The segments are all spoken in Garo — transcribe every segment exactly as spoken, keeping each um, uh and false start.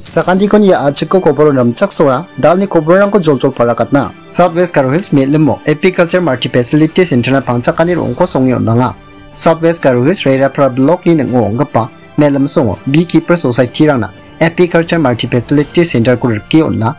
Sakantikon ia a·chiko koboro rimchaksoa, dalni koborrangko joljol parakatna. South West Garo Hills me·limo Apiculture Multi Facility Center-na pangchakani ro·ongko songe on·anga. South West Garo Hills Rerapara Block-ni ning·o ong·gipa me·lim songo Beekeeper Society-rangna Apiculture Multi Facility Center-ko rike on·a.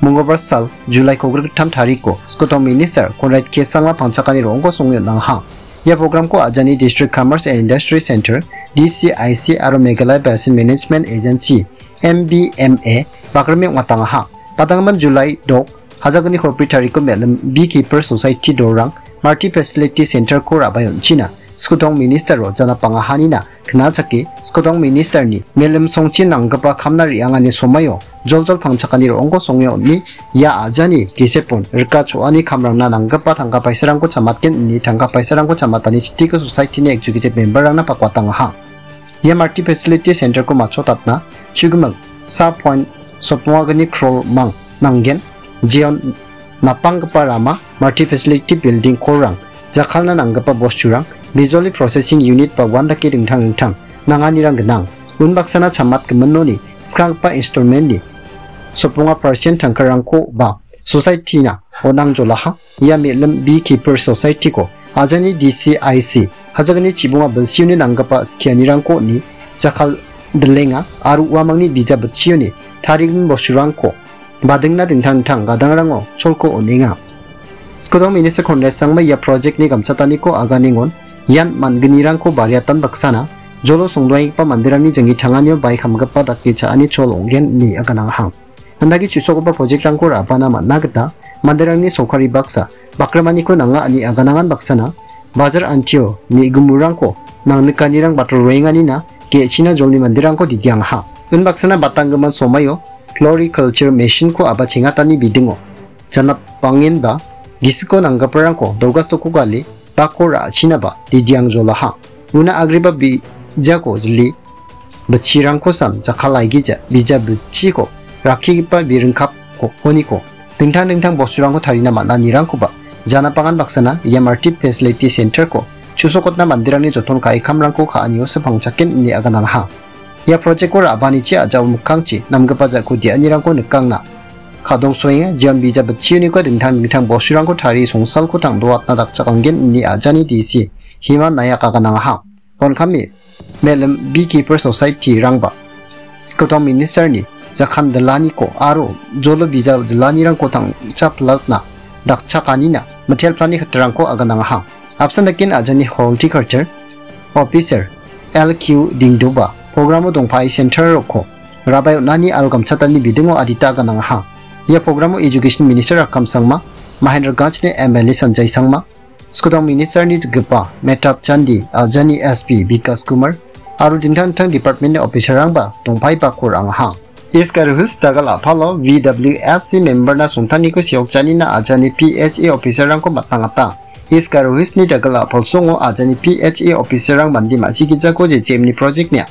Mongolbar sal, July kogrik gittam tariko, Skotong Minister Conrad K Sangma pangchakani ro·ongko songe on·aha. Ia program-ko ajani District Commerce and Industry Center, D C I C, aro Meghalaya Basin Management Agency, M B M A, bagrime ong·atangaha. Padanggimin July dok, hajalgni kolbri tariko me·lim Beekeeper Society dorang Multi Facility Center-ko ra·bae on·china. Skotong Minister-o janapangahanina knachake, Skotong Minister-ni me·lim songchi nanggipa kamna re·angani somaio joljol pangchakani ro·ongko songe on·e, ia ajani gisepon rika cho·ani kamrangna nanggipa tangka paisarangko chamatgen ine tangka paisarangko chamatani chitiko Society-ni Executive Member-rangna pakuatangaha. Ia Multi Facility Center-ko matchotatna chugimik sa point sotmogni crore-mang nanggen, jeon napanggipa rama, Multi Facility Building, call-rang, jakkalna nanggipa bosturang, bijoli processing unit ba uandake dingtang dingtang nanganirang gnang. Unbaksana chamatgiminoni skanggipa installment-ni sotmonga percent tangkarangko ba Society-na on·angjolaha. Ia me·lim Beekeeper Society-ko ajani D C I C, hajalgni chibonga bilsioni nanggipa skianirangko on·e jakkal dilenga aro uamangni bijap bitchioni tarigimin bosturangko badingna dingtang dingtang gadangrango cholko on·enga. Skotong Minister Conrad Sangma ia project-ni gamchataniko aganengon ian man·gnirangko bariatan baksana jolo songdoenggipa manderangni jingni tanganio bai kamgipa dake cha·ani chol ong·gen ine aganangaha. Andake chu·sokgipa project-rangko ra·bana man·a gita manderangni sorkari baksa bakrimaniko nanga ine aganangan baksana bajar antio me·gimurangko nangnikanirang batal roenganina ge·china jolni manderangko didiangaha. Unbaksana batanggimin somaio floriculture machine-ko aba chengatani bidingo janapangenba gisiko nanggiparangko dolgastoko gale bako ra·chinaba didiangjolaha. Una agreba bijako jili bitchirangkosan jakkalaigija bija bitchiko rakkigipa biringkapko oniko dingtang dingtang bosturangko tarina man·anirangkoba janapangan baksana ia Multi Facility Center-ko chu·sokotna manderangni joton ka·e kamrangko ka·anio sipangchaken ine aganangaha. Ia project-ko ra·banichi a·jao mikkangchi namgipa ja·ko de·anirangko nikangna kadongsoenga, jeon bija bitchioniko dingtang dingtang bosturangko tarie songsalko tangdoatna dakchakanggen ine ajani D C Hima Nayak aganangaha. Ponkami, me·lim Beekeeper Society-rangba Skotong Minister-ni jakkan dilaniko aro jolo bijal dilanirangko tangcha pilatna dakchakanina mitelplani katarangko aganangaha. Apsan daken ajani Horticulture Officer L Q Dingdoba program-o dongpae center rokko rabai on·ani aro gamchatani bidingo adita aganangaha. Ia program-o Education Minister Rakkam Sangma, Mahendraganjni M L A Sanjay Sangma, Skotong Minister-ni jikgipa Mehtap Chandi, ajani S P Bikas Kumar, aro dingtang dingtang department-ni officer-rangba dongpaibako ra·angaha. East Garo Hills dagal a·palo V W S C member-na songtaniko seokjanina ajani P H A officer-rangko matangata. East Garo Hills-ni dagal a·pal songo ajani P H A officer-rang mande ma·sigijako J J M-ni project-nia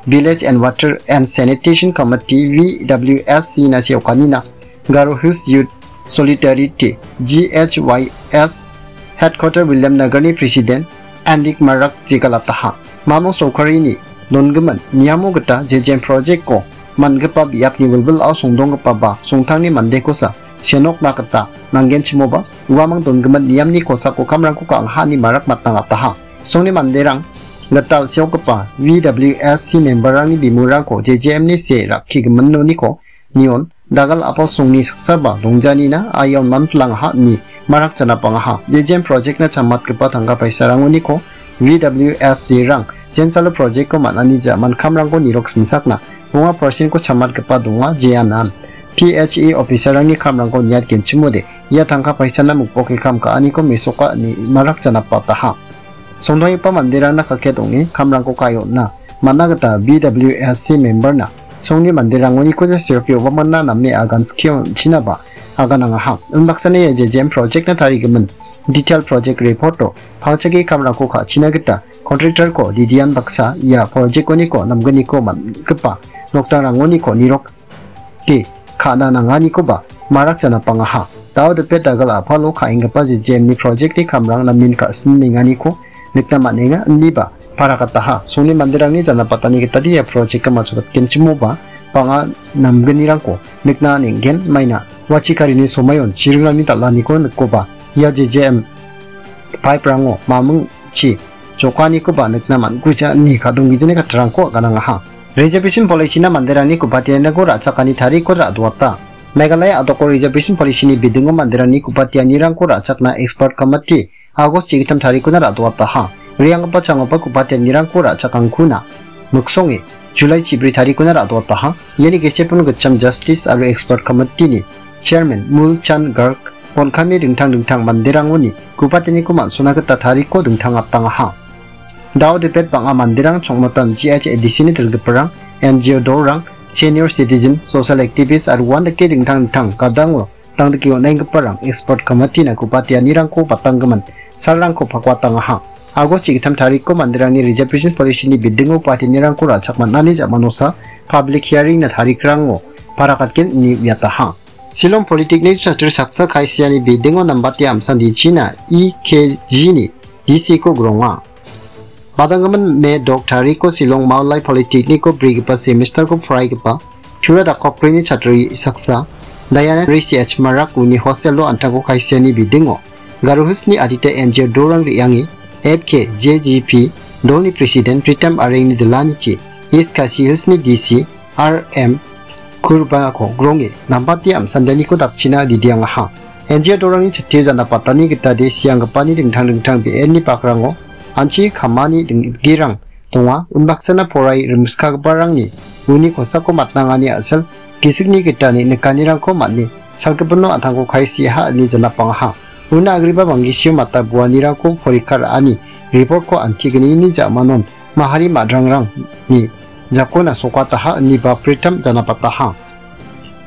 Village and Water and Sanitation Committee, V W S C-na seokanina Garo Hills Youth Solidarity, G H Y S, Headquarter Williamnagar-ni President Andik Marak jegalataha. Mamung sorkarini dongimin niamo gita jejen project-ko man·gipa biapni wilwilao songdonggipa ba songtangni mandekosa senokna gita nanggenchimoba uamang dongimin niamni kosako kamrangko ka·angha ine marak matnangataha. Songni manderang gital seokgipa V W S C member-rangni bimurangko J J M-ni see rakkigiminoniko nion dagal a·pal songni saksaba dongjanina aion manplangaha ine marak janapangaha. Jejen project-na chamatgipa tangka paisarangoniko V W S C-rang jensalo project-ko man·ani ja·man kamrangko nirok simsakna bonga percent-ko chamatgipa donga jeanan P H A officer-rangni kamrangko niatgenchimode ia tangka paisana mukboke kam ka·aniko mesoka ine marak janapataha. Songdonggipa manderangna kaket ong·e kamrangko ka·e on·a. Man·a gita V W S C member-na songni manderangoniko ja seroke obamana name agan skie on·chinaba aganangaha. Unbaksana ia jejem project-na tarigimin detail project report-o pangchake kamrangko ka·china gita contractor-ko didian baksa ia project-oniko namgniko man·gipa nokdangrangoniko nirok ke ka·na nanganikoba marak janapangaha. Dao dipet dagal a·palo ka·enggipa jejem-ni project-ni kamrang namen ka·sinenganiko nikna man·enga, indiba parakataha. Songni manderangni janapatani gitade ia project-ko matchotgenchimoba bang·a namgnirangko nikna neng·gen maina. Ua chikarini somoion chiringrangni dal·aniko nikoba, ia J J M pipe-rango mamingchi jokanikoba nikna man·guja ine kadonggijani kattarangko aganangaha. Reservation policy-na manderangni ku·patianirangko ra·chakani tarikko ra·doata. Meghalaya a·doko reservation policy-ni bidingo manderangni ku·patianirangko ra·chakna expert committee August chigittam tarikkona ra·doataha. Re·anggipa changoba ku·patianirangko ra·chakangkuna miksonge July chibri tarikkona ra·doataha. Iani gesepon gitcham Justice aro Expert Committee-ni Chairman Mul Chan Garg, bon·kami dingtang dingtang manderangoni ku·patianiko man·sona gita tarikko dingtangatangaha. Dao debet bang·a manderang chongmotan G H A D C-ni dilgiparang, N G O dorang, senior citizen, social activist aro uandake dingtang dingtang gadango dangdike on·enggiparang expert committee-na ku·patianirangko batanggimin salrangko pakuatangaha. August chigittam tarikko manderangni reservation policy-ni bidingo ku·patianirangko ra·chak man·ani jamanosa public hearing-na tarikrango parakatgen ine uiataha. Shillong Polytechnic chatri saksa kaisiani bidingo nambate amsan dichina E K G-ni D C-ko gronga. Badanggimin Me dok tariko Shillong Maolai Polytechnic-o brigipa semester-ko poraigipa Tura dakoprini chatri saksa, Diana Risi H Marak uni hostel-o an·tangko kaisiani bidingo Garo Hills-ni adita N G O dorang re·ange F K J G P dolni president Pritam Arengni dilanichi East Khasi Hills-ni D C R M Kurbako gronge nambate amsandaniko dakchina didiangaha. N G O dorangni chitio jana patani gitade sianggipani dingtang dingtang be·enni bakrango anchi kamani ding-, girang donga. Unbaksana porai rimskagiparangni uni kosako matnangani a·sel gisikni gitani nikanirangko man·e salgipino an·tangko kaisiaha ine janapangaha. Una agreba Banggisio mata buanirangko porikha ra·ani report-ko antignini ja·manon mahari madrangrangni jakona sokataha ine Bapritam janapataha.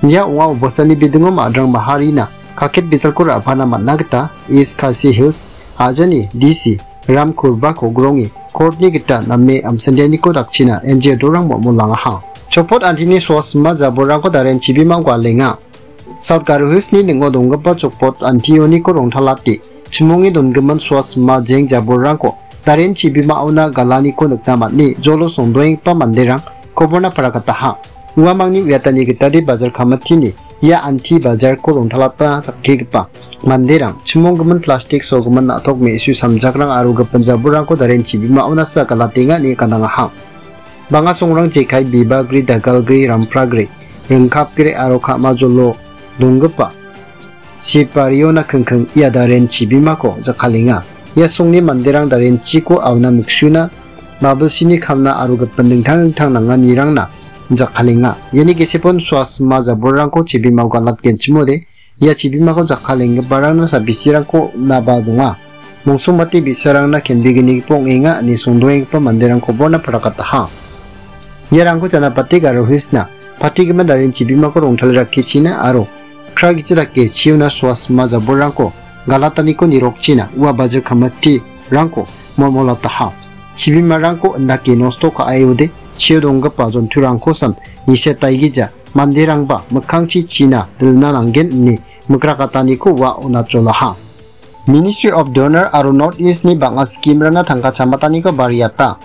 Ia ong·a obostani bidingo madrang maharina kaket bijalko ra·pana man·a gita East Khasi Hills ajani D C Ram Kurbako gronge court-ni gita name amsandianiko dakchina N G O dorang mol·molangaha. Chopot antini suasima jabolrangko daren chibimao galenga. South Garo Hills-ni ning·o donggipa Chopot antioniko rongtalate chimonge dongimin suasima jeng jabolrangko daren chibimaona galaniko nikna man·e jolo songdoenggipa manderang koborna parakataha. Uamangni uiatani gitade bajar kamatini ia anti bajarko rongtalata jakkigipa manderang chimonggimin plastik sogimin na·tok me·su samjakrang aro gipin jabolrangko daren chibimaonasa galatenga ine ganangaha. Bang·a songrang jekai, bibagri, dagalgri, rampragri, ringkapgri aro ka·majolo donggipa Sipariona kingking ia daren chibimako jakkalenga. Ia songni manderang darenchiko auna miksuna, mabilsini kamna aro gipin dingtang dingtang nanganirangna jakkalenga. Iani gisepon suasima jabolrangko chibimao galatgenchimode, ia chibimako jakkalenggiparangna sabisirangko naba donga. Mongsongmate bi·sarangna kenbeginigipa ong·enga ine songdoenggipa manderangkoba uana parakataha. Iarangko janapate Garo Hills-na patigimin daren chibimako rongtale rakkechina aro kragichi dake chiona suasima jabolrangko galataniko nirokchina ua bajir kamitirangko molmolataha. Chibimarangko indake nosto ka·aode chio donggipa jonturangkosan nisetaigija manderangba mikkangchi china dilna nanggen ine mikrakataniko ua onatjolaha. Ministry of Donor aro North East-ni bang·a scheme-rangna tangka chamataniko bariata.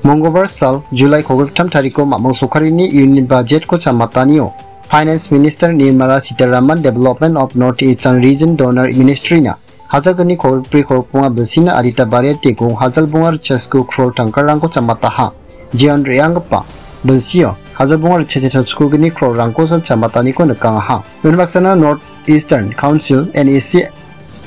Monggobar sal, July kolgriktam tariko mamung sokarini Union Budget-ko chamatanio Finance Minister Nirmala Sitharaman Development of North Eastern Region Donor Ministry-na hajalgni kolgrikbri kolgrikbonga bilsina adita bariate gong hajalbonga ritchasku crore tangkarangko chamataha. Jeon re·anggipa bilsio hajalbonga ritchasku gni crore-rangkosan chamataniko nikangaha. Unbaksana North Eastern Council, N E C,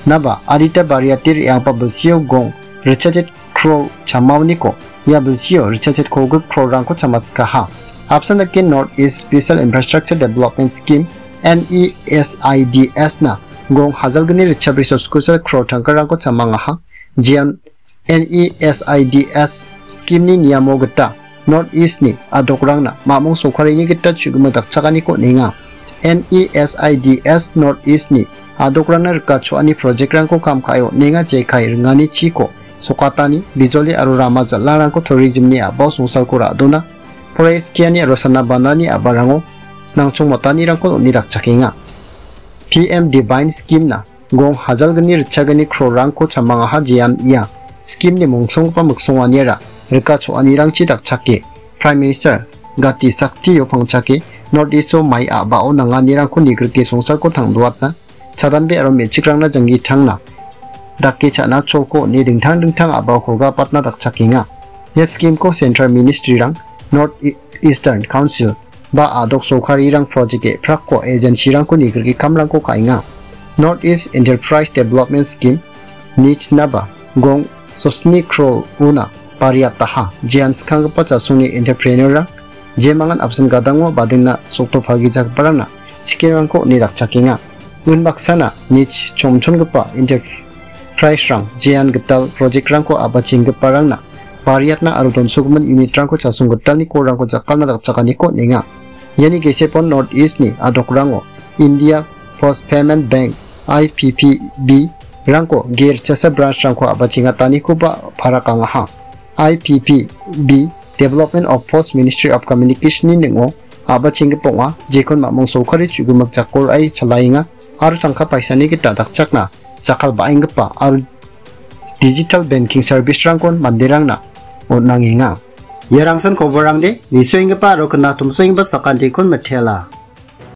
naba adita bariate re·anggipa bilsio gong ritchasku crore chamaoniko ia bilsio ritchasku kolgrikbri crore-rangko chamaskaha. Apsan dake North East Special Infrastructure Development Scheme, N E S I D S-na gong hajalgni ritchasku crore tangkarangko chamangaha. Jeon N E S I D S scheme-ni niamo gita North East-ni adokrangna mamung sokarini gita chu·gimik dakchakaniko on·enga. N E S I D S North East-ni adokrangna rika cho·ani project-rangko kam ka·e on·enga jekai ringani chiko sokatani, bijoli aro rama jal·arangko tourism-ni a·bao songsalko ra·dona, poraiskiani aro sana banani a·barango nangchongmotanirangko on·e dakchakenga. P M Divine scheme-na gong hajalgni ritchagni crore-rangko chamangaha jeon ia scheme-ni mongsonggipa miksonganiara rika cho·anirangchi dakchake Prime Minister gati saktio pangchake North East-o mai a·bao nanganirangko nigrike songsarko tangdoatna, chadambe aro me·chikrangna janggi tangna, dake cha·na cholko on·e dingtang dingtang a·baokoba patna dakchakenga. Ia scheme-ko Central Ministry-rang, North Eastern Council, ba a·dok sorkarirang project-e prakko agency-rangko nigrike kamrangko ka·enga. North East Enterprise Development Scheme, NEECH-naba gong sosni crore-ona bariataha, jean skanggipa chasongni entrepreneur-rang jemangan apsan gadango badingna sokto pagijagiparangna scheme-rangko on·e dakchakenga. Unbaksana NEECH chomchongipa enterprise-rang jean gital project-rangko a·bachenggiparangna bariatna aro donsogimin unit-rangko chasong gitalni korrangko jakkalna dakchakaniko on·enga. Iani gesepon North East-ni a·dokrango India Post Payment Bank, I P P B, rangko gerchasa branch-rangko a·bachengatanikoba parakangaha. I P P B Development of Post Ministry of Communication-ni ning·o a·bachenggipa ong·a, jekon mamung sorkari chu·gimik jakor ai chalaenga aro tangka paisani gita dakchakna jakkal ba·enggipa aro digital banking service-rangkon manderangna on·angenga. Ia rangsan koborrangde nisoenggipa aro knatomsoenggipa sakantikon mitela.